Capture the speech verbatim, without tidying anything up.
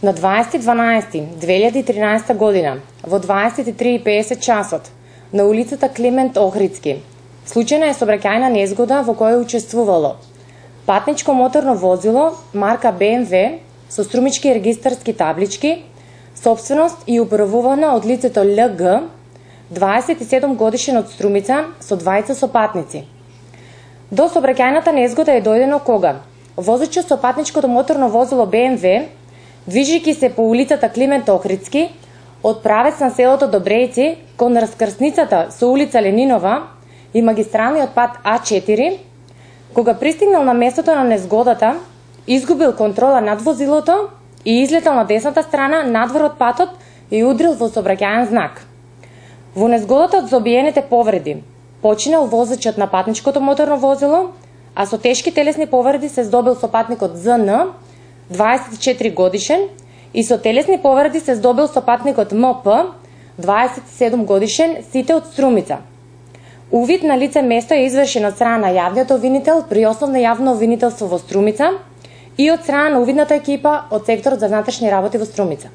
На дваесети дванаести две илјади и тринаесета година, во дваесет и три и песет часот, на улицата Климент Охридски, случајна е сообраќајна незгода во која учествувало патничко моторно возило марка Б М В со струмички регистарски таблички, собственост и управувана од лицето Л Г, дваесет и седум годишен од Струмица, со двајца сопатници. До сообраќајната незгода е дојдено кога возачот со патничкото моторно возило Б М В, движејќи се по улицата Климент Охридски, од правец на селото Добрејци кон раскрсницата со улица Ленинова и магистралниот пат А четири, кога пристигнал на местото на незгодата, изгубил контрола над возилото и излетал на десната страна надвор од патот и удрил во сообраќајен знак. Во незгодата од забиените повреди починал возачот на патничкото моторно возило, а со тешки телесни повреди се здобил сопатникот З Н, дваесет и четири годишен, и со телесни повреди се здобил сопатникот М П, дваесет и седум годишен, сите од Струмица. Увид на лице место е извршен од страна на јавниот обвинител при Основно јавно обвинителство во Струмица и од страна на увидната екипа од секторот за внатрешни работи во Струмица.